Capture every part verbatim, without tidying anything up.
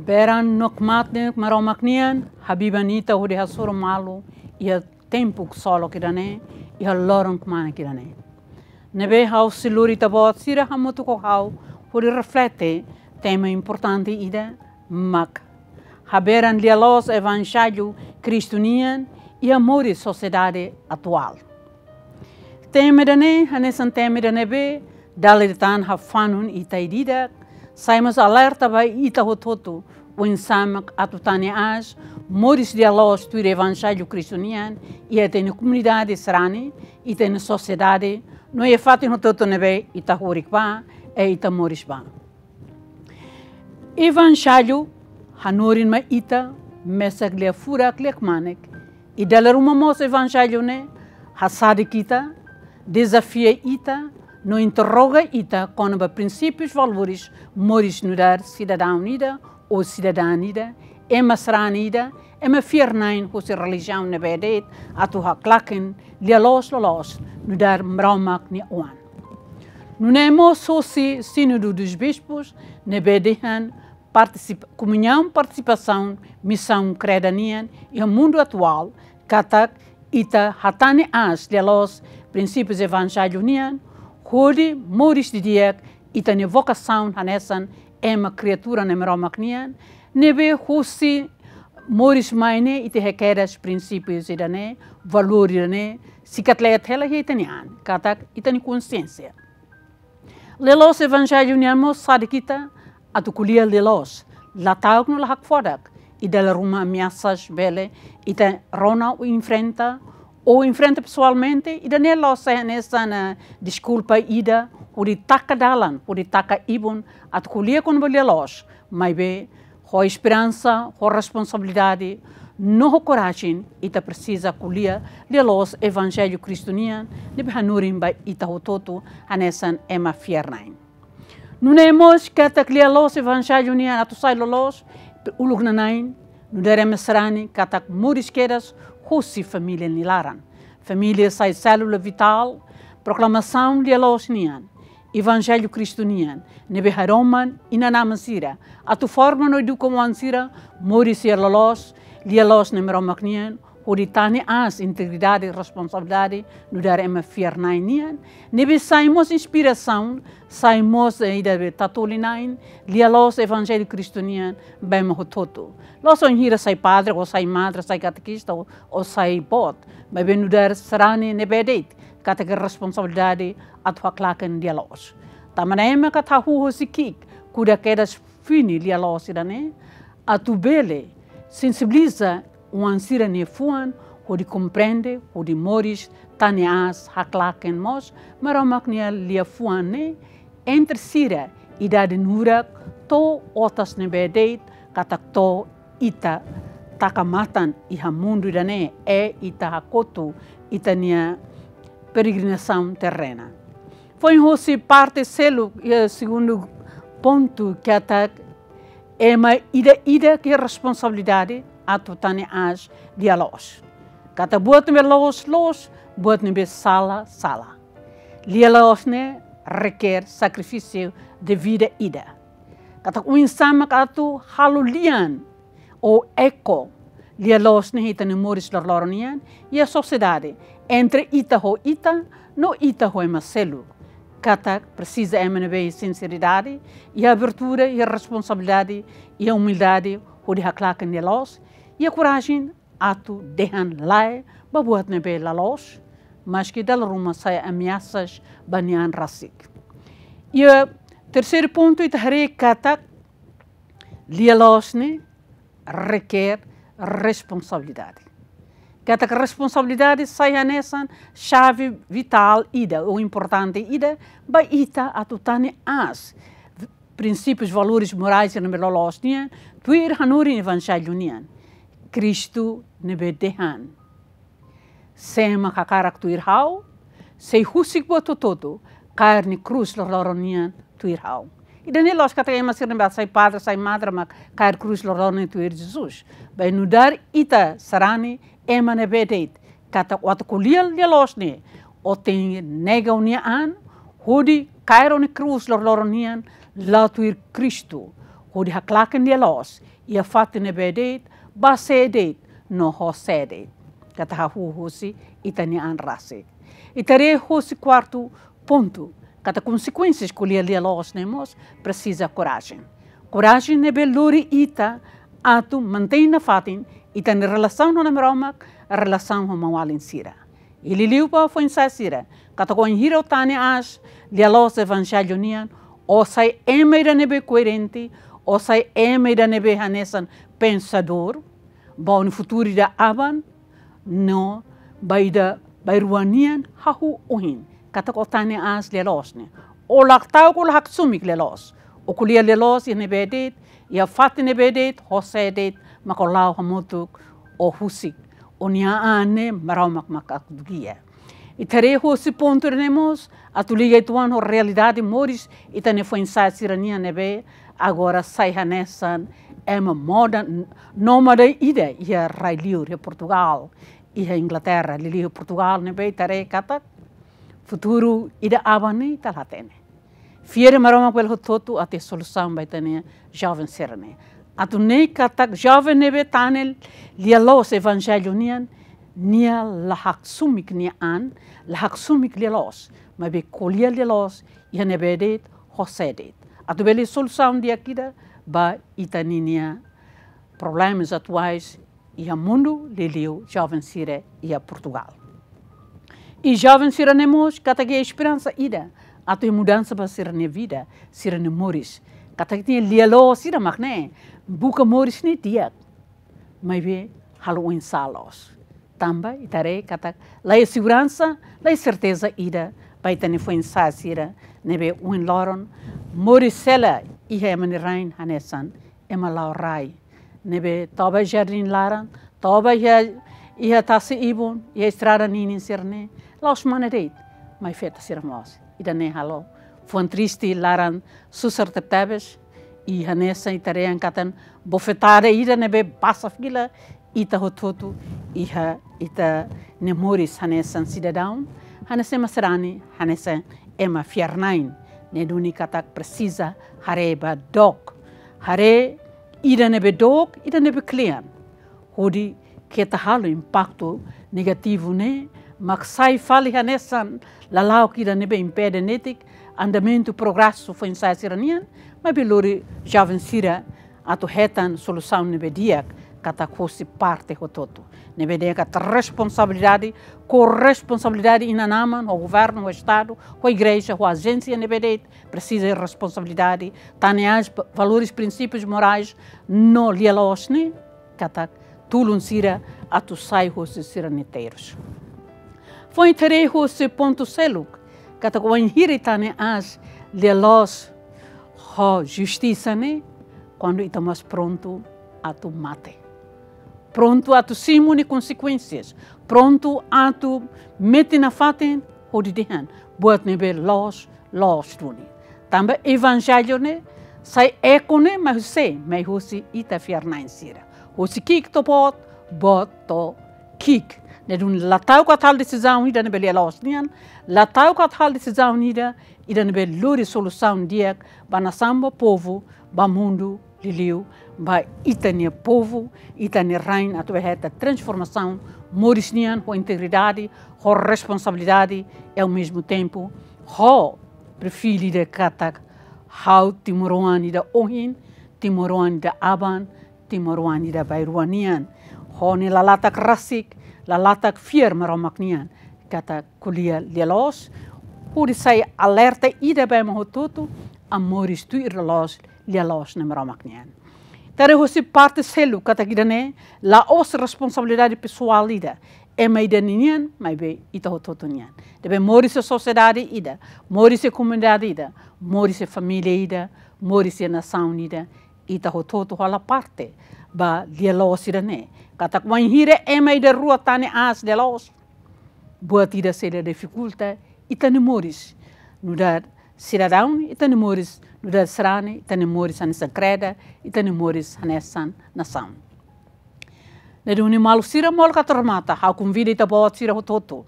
Peran no kmanek Maromak nian habiban ita hodi hasoru malu iha tempu ksolok ida-ne'e, iha loron kmanek ida-ne'e. Ne'ebé ha'u sei lori ita-boot sira hamutuk ho ha'u hodi reflete tema importante ida, mak haberan lia-loos Evanjellu Kristu nian iha moris sosiedade atuál. Tema ida-ne'e hanesan tema ida ne'ebé dala ida tan hafanun ita ida-idak, sai mós alerta ba ita hotu-hotu, oinsá mak atu tane aas moris lia-loos tuir Evanjellu Kristu nian iha ita-nia komunidade sarani, ita-nia sosiedade, no iha fatin hotu-hotu ne'ebé ita horik ba, i ita moris ba. Evanjellu hanorin mai ita, mesak lia furak, lia kmanek, i dala ruma mós Evanjellu ne'e hasadik ita, dezafia ita, no interroga ita kona-ba prinsípius, valores, moris nu'udar sidadaun ida ou sidadán ida, ema sarani ida, ema fiar-na'in husi relijiaun ne'ebé de'it atu haklaken lia-loos loloos nu'udar Maromak nia oan. Nune'e mós husi Sínodu dos Bispos ne'ebé dehan partisip-, komuñaun, partisipasaun, misaun kreda nian iha mundu atuál, katak ita hatane aas lia-loos prinsípius Evanjellu nian, hodi moris didi'ak ita-nia vokasaun hanesan ema kriatura ne'e Maromak nian, ne'ebé husi moris mai ne'e ita iha kedas prinsípius ida-ne'e, valór ida-ne'e, sei katleet hela iha ita-nia an, katak ita-nia konxiénsia. Lia-loos Evanjellu nian mós sadik ita atu ko'alia lia-loos, la ta'uk no la hakfodak, i dala ruma ameasas bele ita rona ou enfrenta, ou enfrenta pesoalmente, ida-ne'e la'ós sai hanesan deskulpa ida hodi taka dalan, hodi taka ibun atu ko'alia kona-ba lia-loos, maibé ho esperansa, ho responsabilidade, no ho korajen, ita presiza ko'alia lia-loos Evanjellu Kristu nian, ne'ebé hanorin ba ita hotu-hotu hanesan ema fiar-na'in. Nune'e mós katak lia-loos Evanjellu nian atu sai loloos, uluk nana'in, nu'udar ema sarani, katak moris kedas husi família nia laran. Família sai sélula vitál proklamasaun lia-loos nian, Evanjellu Kristu nian, ne'ebé hadoman inan-aman sira atu forma no eduka oan sira moris iha loloos, lia-loos ne'e Maromak nian, hodi tane aas integridade, responsabilidade nu'udar ema fiar-na'in nian, ne'ebé sai mós inspirasaun, sai mós, eh, ida be tatoli-na'in lia-loos Evanjellu Kristu nian ba ema hotu-hotu. La'ós wainhira sai padre, ou sai madre, sai katekista, ou, ou sai boot, maibé nu'udar sarani ne'ebé de'it katak iha responsabilidade atu haklaken lia-loos. Tanba ne'e mak ita hahú husi ki'ik, kuda kedas fini lia-loos ida-ne'e, atu bele sensibiliza oan sira-nia fuan, hodi komprende, hodi moris, tane aas, haklaken mós Maromak nia liafuan ne'e, entre sira idade nurak to'o otas ne'ebé de'it, katak to'o ita taka matan iha mundu ida-ne'e, i ita hakotu ita-nia peregrinasaun terrena. Foin husi parte seluk, iha segundu pontu katak ema ida-idak iha responsabilidade atu tane aas lia-loos. Katak buat ne'ebé loos, loos, buat ne'ebé sala, sala. Lia-loos ne'e requer sakrifísiu de vida ida. Katak oinsá mak atu halo lian ou eko lia-loos ne'e iha ita-nia moris loroloron nian, iha sosiedade, entre ita ho ita, no ita ho ema seluk. Katak presiza ema ne'ebé iha sinseridade, iha abertura, iha responsabilidade, iha umildade, hodi haklaken lia-loos, iha korajen atu dehan lae ba buat ne'ebé la loos, maski dala ruma sai ameasas ba nia an rasik. Iha terseiru pontu ita haree katak lia-loos ne'e requer responsabilidade. Katak responsabilidade sai hanesan xave vitál ida, ou importante ida, ba ita atu tane aas prinsípius, valores morais ne'ebé loloos nian, tuir hanorin Evanjellu nian. Kristu ne'ebé dehan: Se ema hakarak tuir ha'u, sei husik buat hotu-hotu, kaer nia krús loroloron nian tuir ha'u. Ida-ne'e la'ós katak ema sira ne'ebé sai padre, sai madre mak kaer krús loroloron nian tuir Jesus. Maibé nu'udar ita sarani ema ne'ebé de'it, katak atu ko'alia lia-loos ne'e, ó tenke nega ó-nia an, hodi kaer ó-nia krús loroloron nian, la'o tuir Kristu. hodi haklaken lia-loos iha fatin ne'ebé de'it, ba sé de'it, no ho sé de'it. Katak hahú husi ita-nia an rasik. Ita haree husi kuartu pontu, katak konsekuénsias ko'alia lia-loos ne'e mós presiza korajen. Korajen ne'ebé lori ita atu mantein nafatin ita-nia relasaun ho Nai Maromak, relasaun ho maun-alin sira. I liuliu ba foin-sa'e sira, katak wainhira ó tane aas lia-loos evanjellu nian, ó sai ema ida ne'ebé koerente, ó sai ema ida ne'ebé hanesan pensadór, ba ó-nia futuru ida aban, no ba ida bainrua nian hahú ohin, katak ó tane aas lia-loos ne'e. Ó la ta'uk, ó la haksook lia-loos. Ó ko'alia lia-loos iha ne'ebé de'it, iha fatin ne'ebé de'it, ho sé de'it, mak ó la'o hamutuk, ó husik ó-nia an ne'e Maromak mak atu gia. Ita haree husi pontu ne'e mós, atu liga uitoan ho realidade moris ita-nia foin-sa'e sira-nian ne'ebé agora sai hanesan ema moda, nómade ida iha rai-liur, iha Portugal, iha Inglaterra, liuliu Portugal ne'ebé ita haree katak futuru ida aban ne'e ita la hatene. Fiar Maromak bele hotu-hotu atu iha solusaun ba ita-nia joven sira-ne'e. Atu nune'e katak joven ne'ebé tane lia-loos evanjellu nian, nia la haksook nia an, la haksook lia-loos, maibé ko'alia lia-loos iha ne'ebé de'it, ho sé de'it. Atu bele solusaun di'ak ida ba ita-nia problemas atuais iha mundu, liuliu joven sira iha Portugal. I joven sira-ne'e mós katak iha esperansa ida atu iha mudansa ba sira-nia vida, sira-nia moris. Katak ita-nia lia-loos sira mak ne'e, buka moris ne'e di'ak, maibé halo oinsá loos. Tanba ita haree katak la iha seguransa, la iha serteza ida ba ita-nia foin-sa'e sira ne'ebé ohin loron moris hela iha ema nia rain hanesan ema la'o rai, ne'ebé toba jardín laran, toba iha, iha tasi-ibun, iha estrada ninin sira-ne'e, la'ós mane de'it, mai feto sira mós. Ida-ne'e halo fuan triste laran susar tebetebes, i hanesan ita haree katak bofetada ida ne'ebé basa fila ita hotu-hotu iha ita-nia moris hanesan sidadaun, hanesan ema sarani, hanesan ema fiar-na'in, ne'e duni katak presiza haree ba dook. Haree ida ne'ebé dook, ida ne'ebé kle'an. Hodi keta halo impaktu negativu ne'e mak sai fali hanesan lala'ok ida ne'ebé impede netik andamentu progresu foin-sa'e sira-nian, maibé lori joven sira atu hetan solusaun ne'ebé di'ak katak hosi parte hotu-hotu. Ne'ebé dehan katak responsabilidade, korresponsabilidade inan-aman, ho governu, ho estadu, ho igreja, ho ajénsia ne'ebé de'it, presiza responsabilidade, tane aas valores, prinsípius morais, no lia-loos ne'e, katak tulun sira atu sai hosi sira-nia terus. Foin ita haree husi pontu seluk, katak wainhira ita tane aas lia-loos ho justisa ne'e, kuandu ita mós prontu atu mate. Prontu atu simu nia konsekuénsias, prontu atu metin nafatin hodi dehan buat ne'ebé loos, loos duni. Tanba evanjellu ne'e sai eko ne'e mai husi, mai husi ita fiar-na'in sira. Husi ki'ik to'o boot, boot to'o ki'ik. Ne'e duni la ta'uk atu halo desizaun ida ne'ebé lia-loos nian, la ta'uk atu halo desizaun ida, ida ne'ebé lori solusaun di'ak ba nasaun, ba povu, ba mundu, liuliu ba ita-nia povu, ita-nia rain atu bele hetan transformasaun moris nian ho integridade, ho responsabilidade, i ao mesmo tempo ho perfíl ida katak ha'u timoroan ida ohin, timoroan ida aban, timoroan ida bainrua nian. Ho nia lalatak rasik, lalatak fiar Maromak nian, katak ko'alia lia-loos, hodi sai alerta ida ba ema hotu-hotu, a moris tuir loos, lia-loos Nai Maromak nian. Ita haree husi parte seluk katak ida-ne'e la'ós responsabilidade pesoál ida ema ida nian, maibé ita hotu-hotu nian. Ne'ebé moris iha sosiedade ida, moris iha komunidade ida, moris iha família ida, moris iha nasaun ida, ita hotu-hotu hola parte ba lia-loos ida-ne'e. Katak wainhira ema ida rua tane aas lia-loos, buat ida sei la difikulta ita-nia moris nu'udar sidadaun, ita-nia moris nu'udar sarani, ita-nia moris hanesan kreda, ita-nia moris hanesan nasaun. Ne'e duni maluk sira, molok atu remata, ha'u konvida ita-boot sira hotu-hotu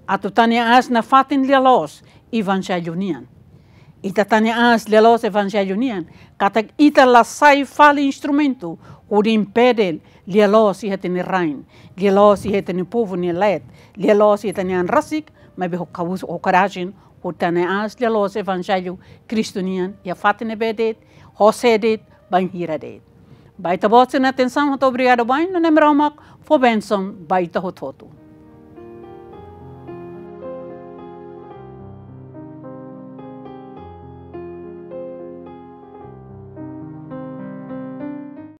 atu tane aas nafatin lia-loos evanjellu nian. Ita tane aas lia-loos evanjellu nian, katak ita la sai fali instrumentu hodi impede lia-loos iha ita-nia rain, lia-loos iha ita-nia povu nia leet, lia-loos iha ita-nia an rasik, maibé ho kaus, ho korajen, hodi tane aas lia-loos evanjellu Kristu nian iha fatin ne'ebé de'it, ho sé de'it, bainhira de'it. Ba Ita-Boot sira-nia atensaun, ha'u hato'o obrigadu ba Aman, no Nai Maromak fó bensaun ba ita hotu-hotu.